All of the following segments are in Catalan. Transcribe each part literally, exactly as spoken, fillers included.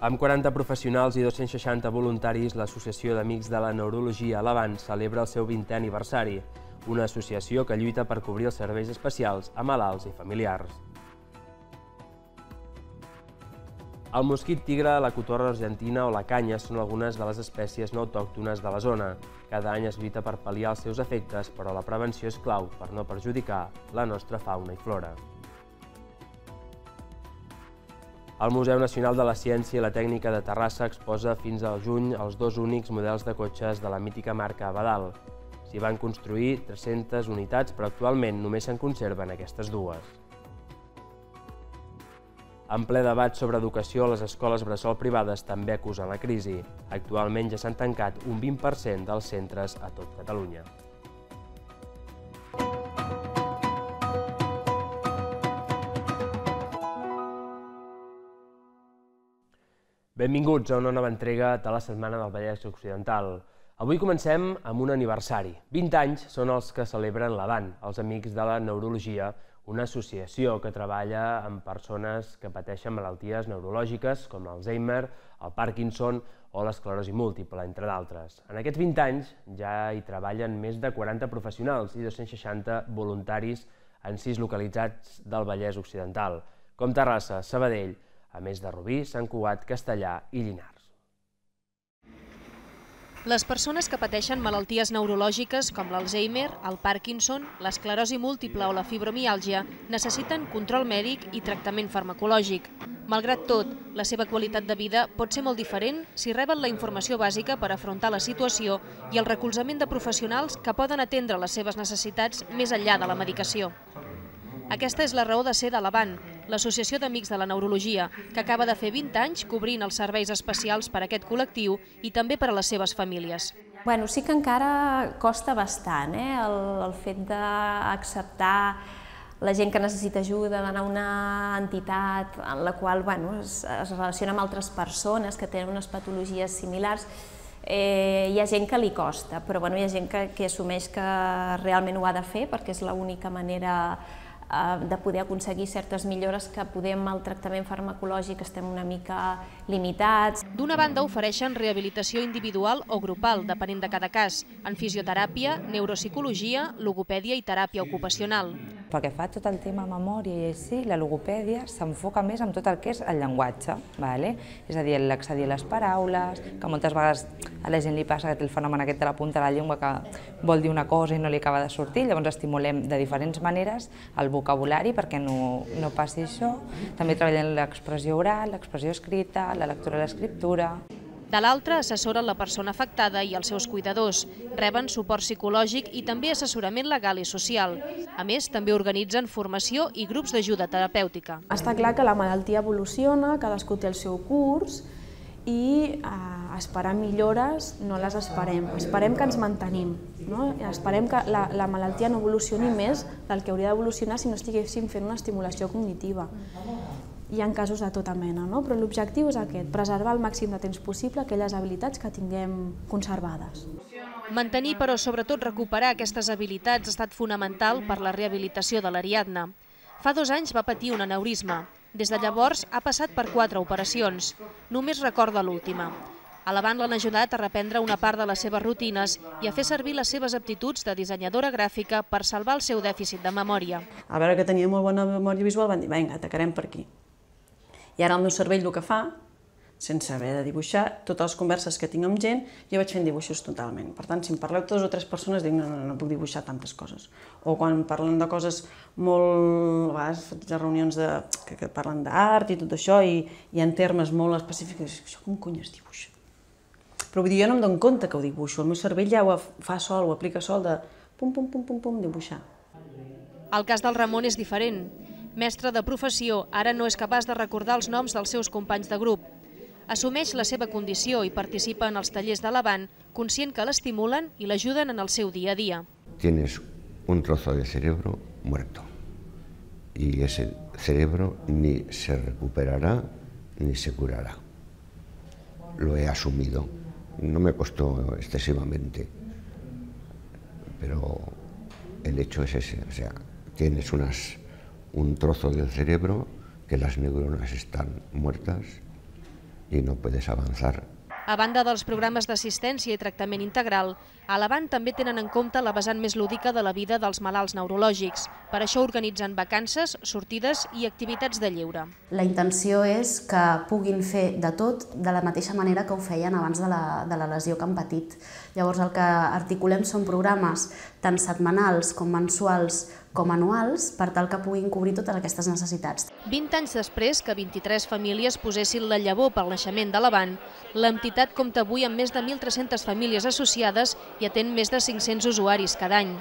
Amb quaranta professionals i dos-cents seixanta voluntaris, l'Associació d'Amics de la Neurologia Lavant celebra el seu vintè aniversari, una associació que lluita per cobrir els serveis especials a malalts i familiars. El mosquit tigre, la cotorra argentina o la canya són algunes de les espècies no autòctones de la zona. Cada any es lluita per pal·liar els seus efectes, però la prevenció és clau per no perjudicar la nostra fauna i flora. El Museu Nacional de la Ciència i la Tècnica de Terrassa exposa fins al juny els dos únics models de cotxes de la mítica marca Abadal. S'hi van construir tres-centes unitats, però actualment només se'n conserven aquestes dues. En ple debat sobre educació, les escoles bressol privades també acusen la crisi. Actualment ja s'han tancat un vint per cent dels centres a tot Catalunya. Benvinguts a una nova entrega de la Setmana del Vallès Occidental. Avui comencem amb un aniversari. vint anys són els que celebren l'Avant, els Amics de la Neurologia, una associació que treballa amb persones que pateixen malalties neurològiques com l'Alzheimer, el Parkinson o l'esclerosi múltiple, entre d'altres. En aquests vint anys ja hi treballen més de quaranta professionals i dos-cents seixanta voluntaris en sis localitats del Vallès Occidental, com Terrassa, Sabadell, a més de Rubí, Sant Cugat, Castellar i Llinars. Les persones que pateixen malalties neurològiques com l'Alzheimer, el Parkinson, l'esclerosi múltiple o la fibromiàlgia necessiten control mèdic i tractament farmacològic. Malgrat tot, la seva qualitat de vida pot ser molt diferent si reben la informació bàsica per afrontar la situació i el recolzament de professionals que poden atendre les seves necessitats més enllà de la medicació. Aquesta és la raó de ser de l'Avant, l'Associació d'Amics de la Neurologia, que acaba de fer vint anys cobrint els serveis especials per a aquest col·lectiu i també per a les seves famílies. Bueno, sí que encara costa bastant, eh? el, el fet d'acceptar la gent que necessita ajuda, d'anar a una entitat en la qual bueno, es, es relaciona amb altres persones que tenen unes patologies similars. Eh, hi ha gent que li costa, però bueno, hi ha gent que, que assumeix que realment ho ha de fer perquè és l'única manera de poder aconseguir certes millores que poder amb el tractament farmacològic estem una mica limitats. D'una banda ofereixen rehabilitació individual o grupal, depenent de cada cas, en fisioteràpia, neuropsicologia, logopèdia i teràpia ocupacional. Pel que fa a tot el tema memòria i així, la logopèdia s'enfoca més en tot el que és el llenguatge, vale? És a dir, l'accedir a les paraules, que moltes vegades a la gent li passa que té el fenomen aquest de la punta de la llengua que vol dir una cosa i no li acaba de sortir, llavors estimulem de diferents maneres el vocabulari perquè no, no passi això. També treballem l'expressió oral, l'expressió escrita, la lectura i l'escriptura. De l'altra, assessoren la persona afectada i els seus cuidadors, reben suport psicològic i també assessorament legal i social. A més, també organitzen formació i grups d'ajuda terapèutica. Està clar que la malaltia evoluciona, cadascú té el seu curs i eh, esperar millores no les esperem, esperem que ens mantenim, no? Esperem que la, la malaltia no evolucioni més del que hauria d'evolucionar si no estiguéssim fent una estimulació cognitiva. Hi ha casos de tota mena, no? Però l'objectiu és aquest, preservar al màxim de temps possible aquelles habilitats que tinguem conservades. Mantenir, però sobretot recuperar aquestes habilitats ha estat fonamental per la rehabilitació de l'Ariadna. Fa dos anys va patir un aneurisma. Des de llavors ha passat per quatre operacions. Només recorda l'última. A l'Avant l'han ajudat a reprendre una part de les seves rutines i a fer servir les seves aptituds de dissenyadora gràfica per salvar el seu dèficit de memòria. A veure que tenia molt bona memòria visual, van dir, vinga, atacarem per aquí. I ara el meu cervell el que fa, sense haver de dibuixar, totes les converses que tinc amb gent, jo vaig fent dibuixos totalment. Per tant, si em parleu dues o tres persones, dic, no, no, no puc dibuixar tantes coses. O quan parlen de coses molt... A vegades faig reunions de, que, que parlen d'art i tot això, i hi ha termes molt específics, això com cony es dibuixa? Però vull dir, jo no em dono compte que ho dibuixo, el meu cervell ja ho fa sol, ho aplica sol de pum, pum, pum, pum, pum, dibuixar. El cas del Ramon és diferent. Mestre de professió, ara no és capaç de recordar els noms dels seus companys de grup. Assumeix la seva condició i participa en els tallers de l'Avant, conscient que l'estimulen i l'ajuden en el seu dia a dia. Tienes un trozo de cerebro muerto y ese cerebro ni se recuperará ni se curará. Lo he asumido, no me costó excesivamente, pero el hecho es ese, o sea, tienes unas... un trozo del cerebro, que las neuronas están muertas y no puedes avanzar. A banda dels programes d'assistència i tractament integral, a l'Avant també tenen en compte la vessant més lúdica de la vida dels malalts neurològics. Per això organitzen vacances, sortides i activitats de lleure. La intenció és que puguin fer de tot de la mateixa manera que ho feien abans de la, de la lesió que han patit. Llavors el que articulem són programes tant setmanals com mensuals com anuals per tal que puguin cobrir totes aquestes necessitats. vint anys després que vint-i-tres famílies posessin la llavor pel naixement de l'Avant, l'entitat compta avui amb més de mil tres-centes famílies associades i atén més de cinc-cents usuaris cada any.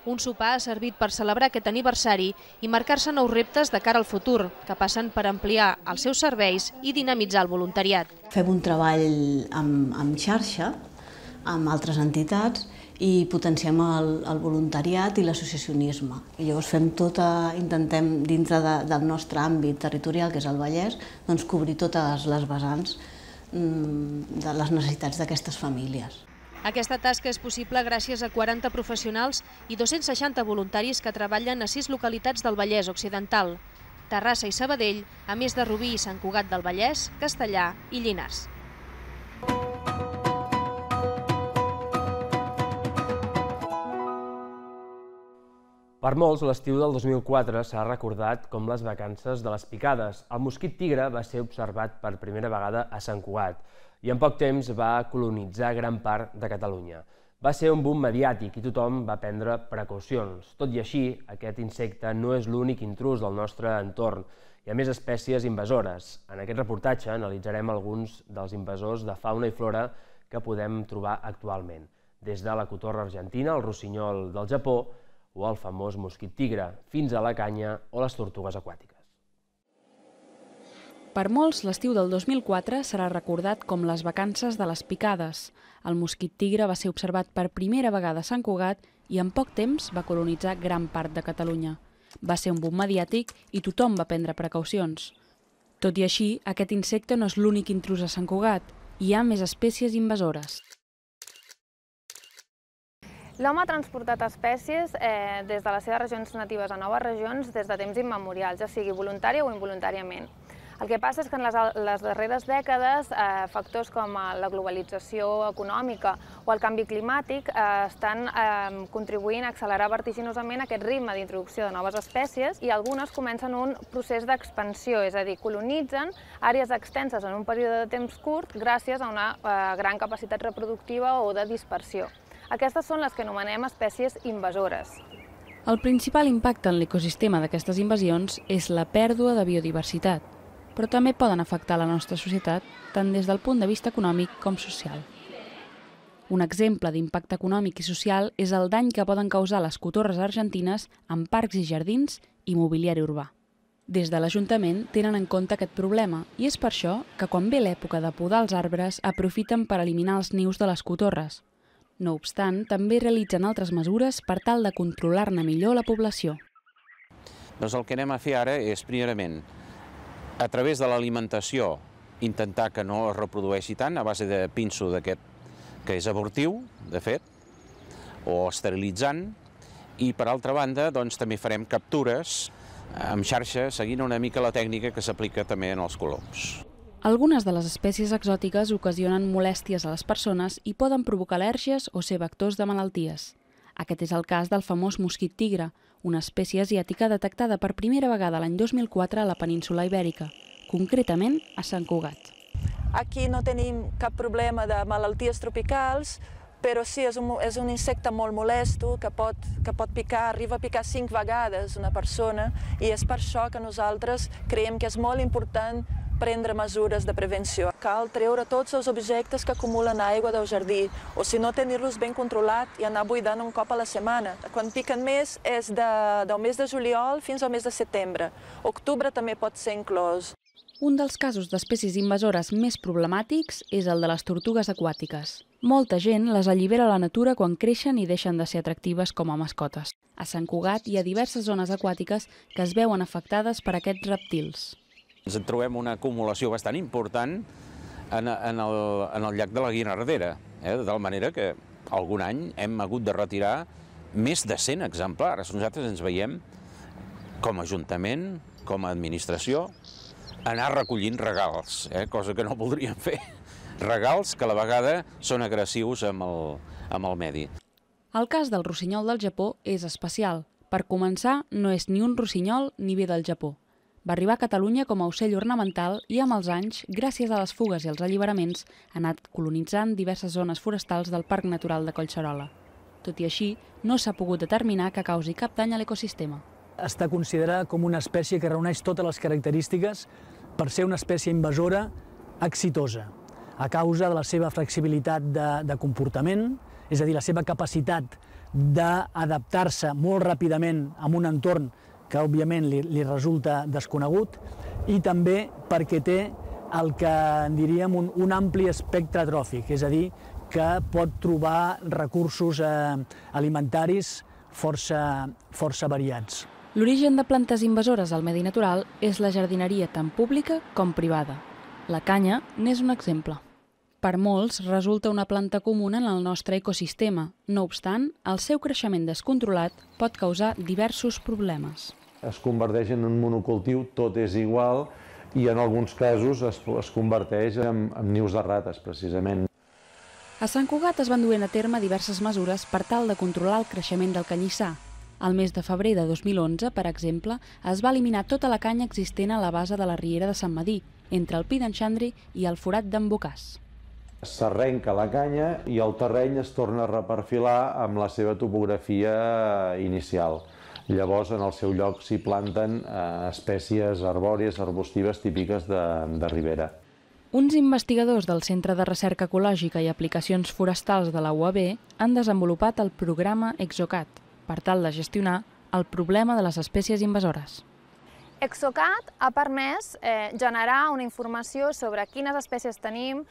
Un sopar ha servit per celebrar aquest aniversari i marcar-se nous reptes de cara al futur, que passen per ampliar els seus serveis i dinamitzar el voluntariat. Fem un treball amb, amb xarxa, amb altres entitats, i potenciem el, el voluntariat i l'associacionisme. I llavors fem tota, intentem dintre de, del nostre àmbit territorial, que és el Vallès, doncs cobrir totes les vessants mm, de les necessitats d'aquestes famílies. Aquesta tasca és possible gràcies a quaranta professionals i dos-cents seixanta voluntaris que treballen a sis localitats del Vallès Occidental, Terrassa i Sabadell, a més de Rubí i Sant Cugat del Vallès, Castellar i Llinars. Per molts, l'estiu del dos mil quatre s'ha recordat com les vacances de les picades. El mosquit tigre va ser observat per primera vegada a Sant Cugat i en poc temps va colonitzar gran part de Catalunya. Va ser un boom mediàtic i tothom va prendre precaucions. Tot i així, aquest insecte no és l'únic intrús del nostre entorn. Hi ha més espècies invasores. En aquest reportatge analitzarem alguns dels invasors de fauna i flora que podem trobar actualment, des de la cotorra argentina, el rossinyol del Japó, o el famós mosquit tigre, fins a la canya o les tortugues aquàtiques. Per molts, l'estiu del dos mil quatre serà recordat com les vacances de les picades. El mosquit tigre va ser observat per primera vegada a Sant Cugat i en poc temps va colonitzar gran part de Catalunya. Va ser un boom mediàtic i tothom va prendre precaucions. Tot i així, aquest insecte no és l'únic intrús a Sant Cugat. Hi ha més espècies invasores. L'home ha transportat espècies eh, des de les seves regions natives a noves regions des de temps immemorials, ja sigui voluntari o involuntàriament. El que passa és que en les, les darreres dècades eh, factors com la globalització econòmica o el canvi climàtic eh, estan eh, contribuint a accelerar vertiginosament aquest ritme d'introducció de noves espècies i algunes comencen un procés d'expansió, és a dir, colonitzen àrees extenses en un període de temps curt gràcies a una eh, gran capacitat reproductiva o de dispersió. Aquestes són les que anomenem espècies invasores. El principal impacte en l'ecosistema d'aquestes invasions és la pèrdua de biodiversitat, però també poden afectar la nostra societat tant des del punt de vista econòmic com social. Un exemple d'impacte econòmic i social és el dany que poden causar les cotorres argentines en parcs i jardins i mobiliari urbà. Des de l'Ajuntament tenen en compte aquest problema i és per això que quan ve l'època de podar els arbres aprofiten per eliminar els nius de les cotorres. No obstant, també realitzen altres mesures per tal de controlar-ne millor la població. Doncs el que anem a fer ara és, primerament, a través de l'alimentació, intentar que no es reprodueixi tant a base de pinso d'aquest, que és abortiu, de fet, o esterilitzant, i per altra banda, doncs també farem captures amb xarxa, seguint una mica la tècnica que s'aplica també en els coloms. Algunes de les espècies exòtiques ocasionen molèsties a les persones i poden provocar al·lèrgies o ser vectors de malalties. Aquest és el cas del famós mosquit tigre, una espècie asiàtica detectada per primera vegada l'any dos mil quatre a la península Ibèrica, concretament a Sant Cugat. Aquí no tenim cap problema de malalties tropicals, però sí, és un, és un insecte molt molesto que pot, que pot picar, arriba a picar cinc vegades una persona i és per això que nosaltres creiem que és molt important prendre mesures de prevenció. Cal treure tots els objectes que acumulen aigua del jardí, o si no, tenir-los ben controlat i anar buidant un cop a la setmana. Quan piquen més és de, del mes de juliol fins al mes de setembre. Octubre també pot ser inclòs. Un dels casos d'espècies invasores més problemàtics és el de les tortugues aquàtiques. Molta gent les allibera a la natura quan creixen i deixen de ser atractives com a mascotes. A Sant Cugat hi ha diverses zones aquàtiques que es veuen afectades per aquests rèptils. Ens en trobem una acumulació bastant important en, en, el, en el llac de la Guinardera, eh? de tal manera que algun any hem hagut de retirar més de cent exemplars. Nosaltres ens veiem com a Ajuntament, com a administració, anar recollint regals, eh? Cosa que no voldríem fer. Regals que a la vegada són agressius amb el, amb el medi. El cas del rossinyol del Japó és especial. Per començar, no és ni un rossinyol ni ve del Japó. Va arribar a Catalunya com a ocell ornamental i amb els anys, gràcies a les fugues i els alliberaments, ha anat colonitzant diverses zones forestals del Parc Natural de Collserola. Tot i així, no s'ha pogut determinar que causi cap dany a l'ecosistema. Està considerada com una espècie que reuneix totes les característiques per ser una espècie invasora exitosa, a causa de la seva flexibilitat de, de comportament, és a dir, la seva capacitat d'adaptar-se molt ràpidament a un entorn que òbviament li, li resulta desconegut, i també perquè té el que en diríem un, un ampli espectre tròfic, és a dir, que pot trobar recursos eh, alimentaris força, força variats. L'origen de plantes invasores al medi natural és la jardineria tant pública com privada. La canya n'és un exemple. Per molts resulta una planta comuna en el nostre ecosistema. No obstant, el seu creixement descontrolat pot causar diversos problemes. Es converteix en un monocultiu, tot és igual, i en alguns casos es, es converteix en, en nius de rates, precisament. A Sant Cugat es van duent a terme diverses mesures per tal de controlar el creixement del canyissar. Al mes de febrer de dos mil onze, per exemple, es va eliminar tota la canya existent a la base de la riera de Sant Medir, entre el Pi d'en Xandri i el Forat d'en Bocàs. S'arrenca la canya i el terreny es torna a reperfilar amb la seva topografia inicial. Llavors, en el seu lloc s'hi planten eh, espècies arbòries, arbustives típiques de, de ribera. Uns investigadors del Centre de Recerca Ecològica i Aplicacions Forestals de la U A B han desenvolupat el programa ExoCat per tal de gestionar el problema de les espècies invasores. ExoCat ha permès eh, generar una informació sobre quines espècies tenim,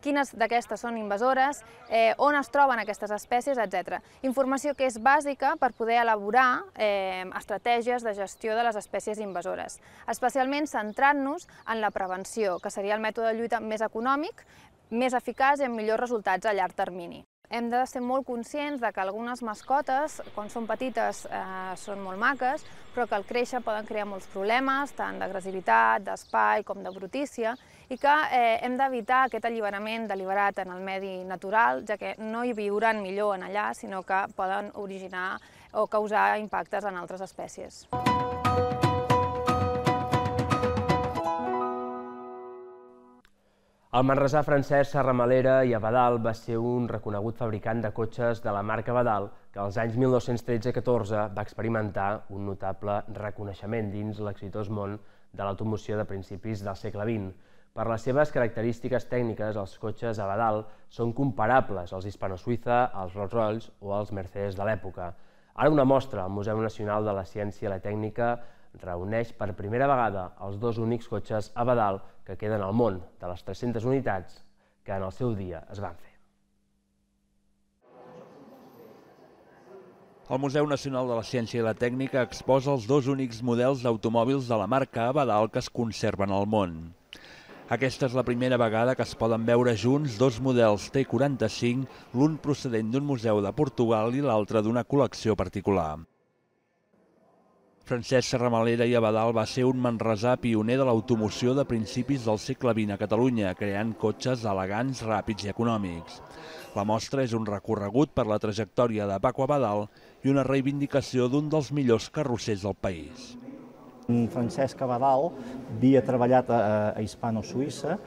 quines d'aquestes són invasores, eh, on es troben aquestes espècies, etcètera. Informació que és bàsica per poder elaborar eh, estratègies de gestió de les espècies invasores, especialment centrant-nos en la prevenció, que seria el mètode de lluita més econòmic, més eficaç i amb millors resultats a llarg termini. Hem de ser molt conscients de que algunes mascotes, quan són petites, eh, són molt maques, però que al créixer poden crear molts problemes, tant d'agressivitat, d'espai com de brutícia, i que eh, hem d'evitar aquest alliberament deliberat en el medi natural, ja que no hi viuran millor en allà, sinó que poden originar o causar impactes en altres espècies. El manresà Francesc Serramalera i Abadal va ser un reconegut fabricant de cotxes de la marca Abadal que als anys mil nou-cents tretze catorze va experimentar un notable reconeixement dins l'exitós món de l'automoció de principis del segle vint. Per les seves característiques tècniques, els cotxes Abadal són comparables als Hispano-Suïssa, als Rolls-Royce o als Mercedes de l'època. Ara una mostra al Museu Nacional de la Ciència i la Tècnica reuneix per primera vegada els dos únics cotxes Abadal que queden al món, de les tres-centes unitats que en el seu dia es van fer. El Museu Nacional de la Ciència i la Tècnica exposa els dos únics models d'automòbils de la marca Abadal que es conserven al món. Aquesta és la primera vegada que es poden veure junts dos models T quaranta-cinc, l'un procedent d'un museu de Portugal i l'altre d'una col·lecció particular. Francesc Serramalera i Abadal va ser un manresà pioner de l'automoció de principis del segle vint a Catalunya, creant cotxes elegants, ràpids i econòmics. La mostra és un recorregut per la trajectòria de Paco Abadal i una reivindicació d'un dels millors carrossers del país. Francesc Abadal havia treballat a Hispano-Suïssa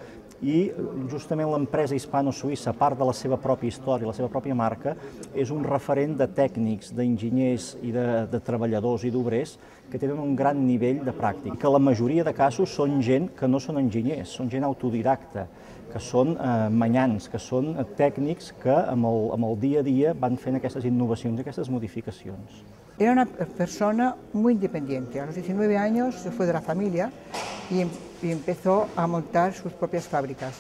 i justament l'empresa hispano-suïssa, a part de la seva pròpia història, la seva pròpia marca, és un referent de tècnics, d'enginyers i de, de treballadors i d'obrers que tenen un gran nivell de pràctica. Que la majoria de casos són gent que no són enginyers, són gent autodidacta, que són eh, manyans, que són tècnics que amb el, amb el dia a dia van fent aquestes innovacions, aquestes modificacions. Era una persona muy independiente. A los diecinueve años se fue de la familia y, y empezó a montar sus propias fábricas.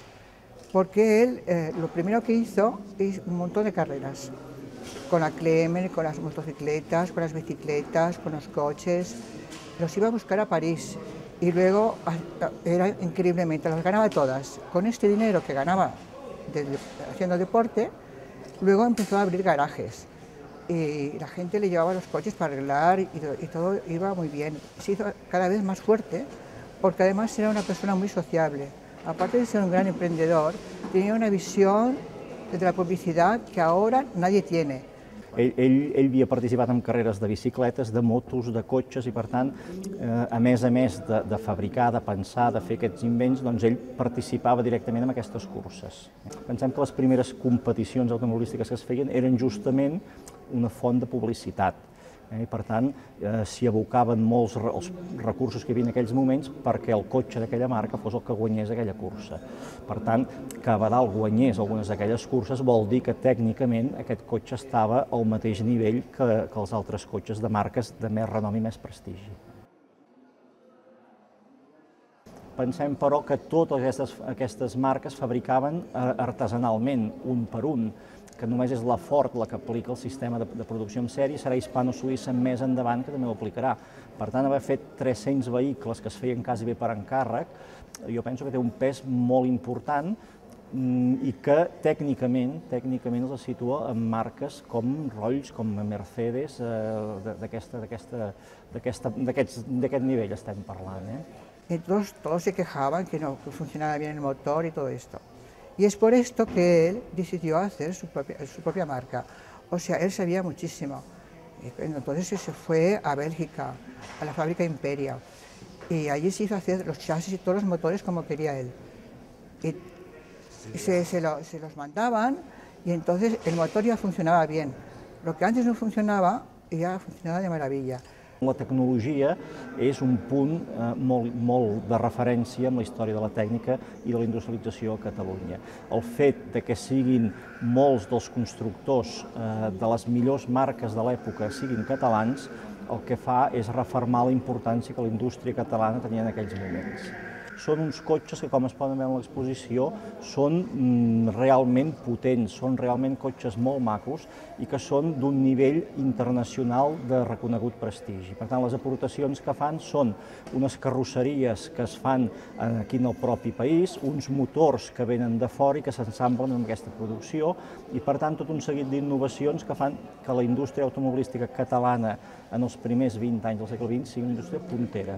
Porque él eh, lo primero que hizo es un montón de carreras. Con la Clemen, con las motocicletas, con las bicicletas, con los coches. Los iba a buscar a París y luego era increíblemente, las ganaba todas. Con este dinero que ganaba de, haciendo deporte, luego empezó a abrir garajes. Y la gente le llevaba los coches para arreglar y, y todo iba muy bien. Se hizo cada vez más fuerte porque además era una persona muy sociable. Aparte de ser un gran emprendedor, tenía una visión de la publicidad que ahora nadie tiene. Ell, ell, ell havia participat en carreres de bicicletes, de motos, de cotxes i, per tant, eh, a més a més de, de fabricar, de pensar, de fer aquests invents, doncs ell participava directament en aquestes curses. Pensem que les primeres competicions automobilístiques que es feien eren justament una font de publicitat. Eh, I, per tant, eh, s'hi abocaven molts re els recursos que hi havia en aquells moments perquè el cotxe d'aquella marca fos el que guanyés aquella cursa. Per tant, que Abadal guanyés algunes d'aquelles curses vol dir que tècnicament aquest cotxe estava al mateix nivell que, que els altres cotxes de marques de més renom i més prestigi. Pensem, però, que totes aquestes, aquestes marques fabricaven artesanalment, un per un, que només és la Ford la que aplica el sistema de, de producció en sèrie, serà Hispano-Suïssa més endavant que també ho aplicarà. Per tant, haver fet tres-cents vehicles que es feien quasi bé per encàrrec, jo penso que té un pes molt important i que tècnicament, tècnicament els situa en marques com Rolls, com Mercedes, eh, d'aquest nivell estem parlant. Eh? Entonces todos se quejaban que no que funcionaba bien el motor y todo esto. Y es por esto que él decidió hacer su propia, su propia marca. O sea, él sabía muchísimo. Entonces se fue a Bélgica, a la fábrica Imperia, y allí se hizo hacer los chasis y todos los motores como quería él. Y se, se, lo, se los mandaban y entonces el motor ya funcionaba bien. Lo que antes no funcionaba ya funcionaba de maravilla. La tecnologia és un punt eh, molt, molt de referència amb la història de la tècnica i de la industrialització a Catalunya. El fet de que siguin molts dels constructors eh, de les millors marques de l'època siguin catalans, el que fa és refermar la importància que la indústria catalana tenia en aquells moments. Són uns cotxes que, com es poden veure en l'exposició, són mm, realment potents, són realment cotxes molt macos i que són d'un nivell internacional de reconegut prestigi. Per tant, les aportacions que fan són unes carrosseries que es fan aquí en el propi país, uns motors que venen de fora i que s'ensamblen en aquesta producció i, per tant, tot un seguit d'innovacions que fan que la indústria automobilística catalana en els primers vint anys del segle vint sigui una indústria puntera.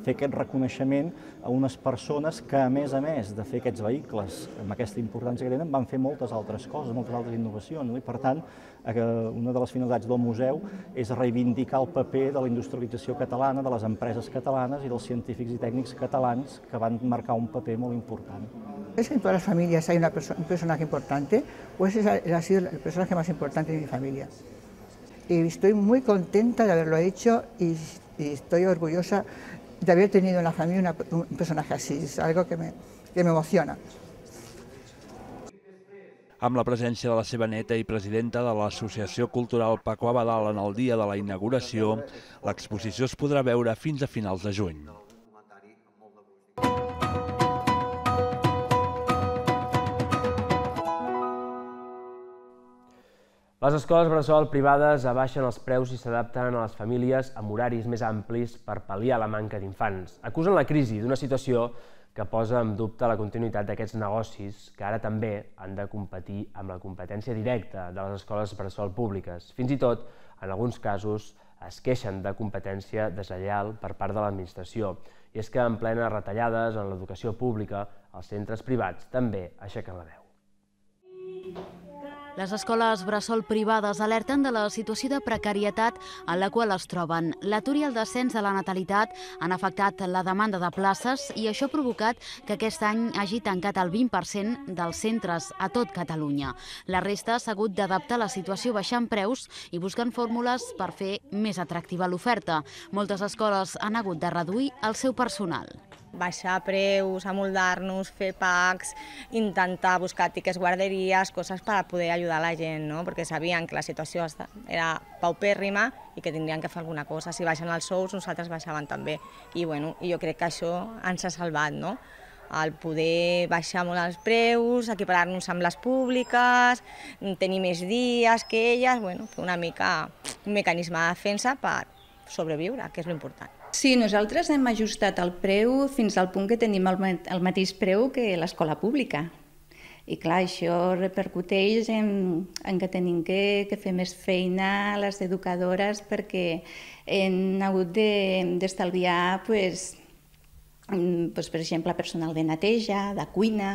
Fer aquest reconeixement a unes persones que, a més a més de fer aquests vehicles amb aquesta importància que tenen, van fer moltes altres coses, moltes altres innovacions. I, per tant, una de les finalitats del museu és reivindicar el paper de la industrialització catalana, de les empreses catalanes i dels científics i tècnics catalans que van marcar un paper molt important. ¿Es que en todas las familias hay una perso- un personaje importante? ¿O ese ha sido el personaje más importante de mi familia? Y estoy muy contenta de haberlo hecho y, y estoy orgullosa de haber tenido en la familia una, un personaje así, es algo que me, que me emociona. Amb la presència de la seva neta i presidenta de l'Associació Cultural Paco Abadal en el dia de la inauguració, l'exposició es podrà veure fins a finals de juny. Les escoles bressol privades abaixen els preus i s'adapten a les famílies amb horaris més amplis per pal·liar la manca d'infants. Acusen la crisi d'una situació que posa en dubte la continuïtat d'aquests negocis que ara també han de competir amb la competència directa de les escoles bressol públiques. Fins i tot, en alguns casos, es queixen de competència deslleial per part de l'administració. I és que en plenes retallades en l'educació pública, els centres privats també aixequen la veu. Les escoles bressol privades alerten de la situació de precarietat en la qual es troben. L'atur i el descens de la natalitat han afectat la demanda de places i això ha provocat que aquest any hagi tancat el vint per cent dels centres a tot Catalunya. La resta s'ha hagut d'adaptar a la situació baixant preus i buscant fórmules per fer més atractiva l'oferta. Moltes escoles han hagut de reduir el seu personal. Baixar preus, amoldar-nos, fer packs, intentar buscar tiquets guarderies, coses per poder ajudar la gent, no? Perquè sabien que la situació era paupèrrima i que tindrien que fer alguna cosa. Si baixen els sous, nosaltres baixaven també. I, bueno, i jo crec que això ens ha salvat, no? El poder baixar molt els preus, equiparar-nos amb les públiques, tenir més dies que elles, bueno, fer una mica un mecanisme de defensa per sobreviure, que és l'important. Sí, nosaltres hem ajustat el preu fins al punt que tenim el, el mateix preu que l'escola pública. I clar, això repercuteix en, en que tenim que, que fer més feina a les educadores perquè hem hagut d'estalviar pues, doncs, per exemple, personal de neteja, de cuina.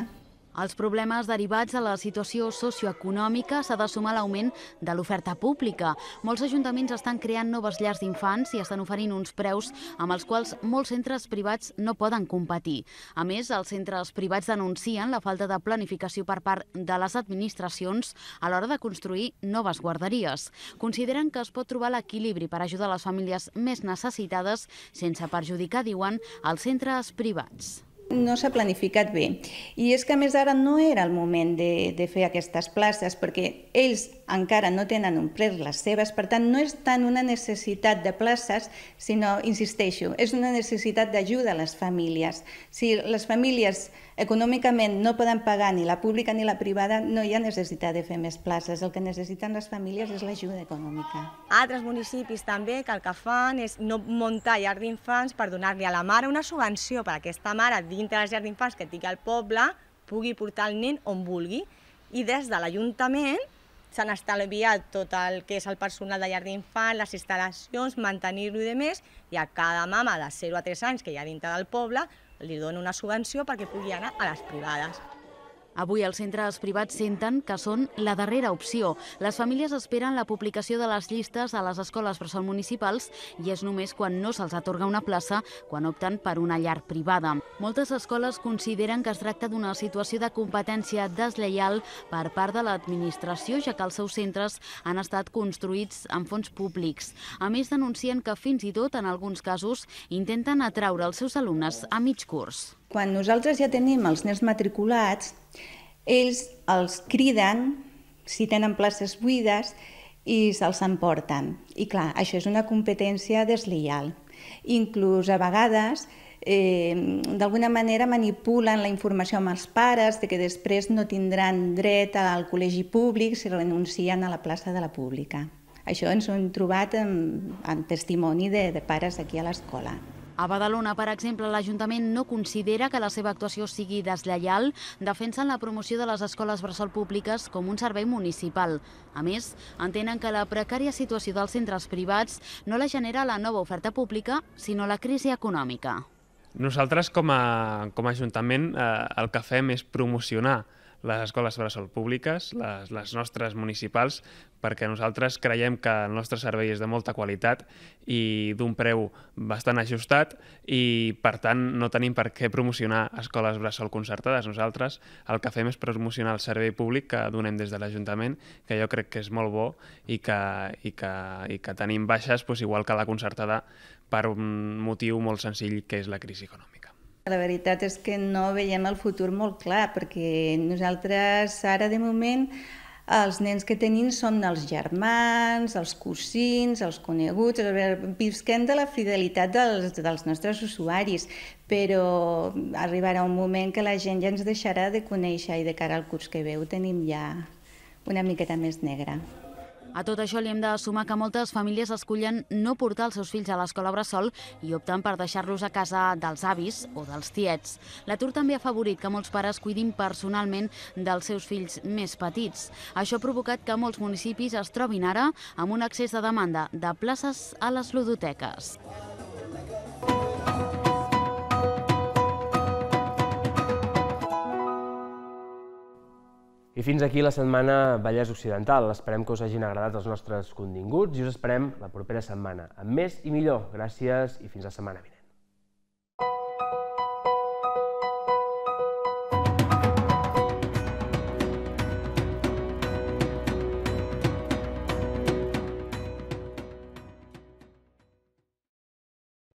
Als problemes derivats de la situació socioeconòmica s'ha de sumar l'augment de l'oferta pública. Molts ajuntaments estan creant noves llars d'infants i estan oferint uns preus amb els quals molts centres privats no poden competir. A més, els centres privats denuncien la falta de planificació per part de les administracions a l'hora de construir noves guarderies. Consideren que es pot trobar l'equilibri per ajudar les famílies més necessitades sense perjudicar, diuen, els centres privats. No s'ha planificat bé. I és que, a més, ara no era el moment de, de fer aquestes places, perquè ells encara no tenen omplert les seves, per tant, no és tant una necessitat de places, sinó, insisteixo, és una necessitat d'ajuda a les famílies. Si les famílies econòmicament no poden pagar ni la pública ni la privada, no hi ha necessitat de fer més places. El que necessiten les famílies és l'ajuda econòmica. Altres municipis també que el que fan és no muntar llar d'infants per donar-li a la mare una subvenció per a aquesta mare dintre de les llars d'infants que tingui al poble pugui portar el nen on vulgui. I des de l'Ajuntament s'han estalviat tot el que és el personal de llar d'infants, les instal·lacions, mantenir-lo i demés, i a cada mama de zero a tres anys que hi ha dintre del poble li dona una subvenció perquè pugui anar a les privades. Avui els centres privats senten que són la darrera opció. Les famílies esperen la publicació de les llistes a les escoles bressol municipals i és només quan no se'ls atorga una plaça quan opten per una llar privada. Moltes escoles consideren que es tracta d'una situació de competència deslleial per part de l'administració, ja que els seus centres han estat construïts amb fons públics. A més, denuncien que fins i tot, en alguns casos, intenten atraure els seus alumnes a mig curs. Quan nosaltres ja tenim els nens matriculats, ells els criden si tenen places buides i se'ls emporten. I clar, això és una competència deslleial. Inclús a vegades, eh, d'alguna manera manipulen la informació amb els pares de que després no tindran dret al col·legi públic si renuncien a la plaça de la pública. Això ens ho hem trobat en, en testimoni de, de pares aquí a l'escola. A Badalona, per exemple, l'Ajuntament no considera que la seva actuació sigui deslleial, defensen la promoció de les escoles bressol públiques com un servei municipal. A més, entenen que la precària situació dels centres privats no la genera la nova oferta pública, sinó la crisi econòmica. Nosaltres, com a, com a Ajuntament, eh, el que fem és promocionar les escoles bressol públiques, les, les nostres municipals, perquè nosaltres creiem que el nostre servei és de molta qualitat i d'un preu bastant ajustat i, per tant, no tenim per què promocionar escoles bressol concertades. Nosaltres el que fem és promocionar el servei públic que donem des de l'Ajuntament, que jo crec que és molt bo i que, i que, i que tenim baixes, doncs, igual que la concertada, per un motiu molt senzill, que és la crisi econòmica. La veritat és que no veiem el futur molt clar, perquè nosaltres ara, de moment, els nens que tenim són els germans, els cosins, els coneguts, visquem de la fidelitat dels, dels nostres usuaris, però arribarà un moment que la gent ja ens deixarà de conèixer i de cara al curs que ve ho tenim ja una miqueta més negre. A tot això li hem de sumar que moltes famílies escullen no portar els seus fills a l'escola bressol i opten per deixar-los a casa dels avis o dels tiets. L'atur també ha afavorit que molts pares cuidin personalment dels seus fills més petits. Això ha provocat que molts municipis es trobin ara amb un excés de demanda de places a les ludoteques. I fins aquí la setmana Vallès Occidental. Esperem que us hagin agradat els nostres continguts i us esperem la propera setmana amb més i millor. Gràcies i fins la setmana vinent.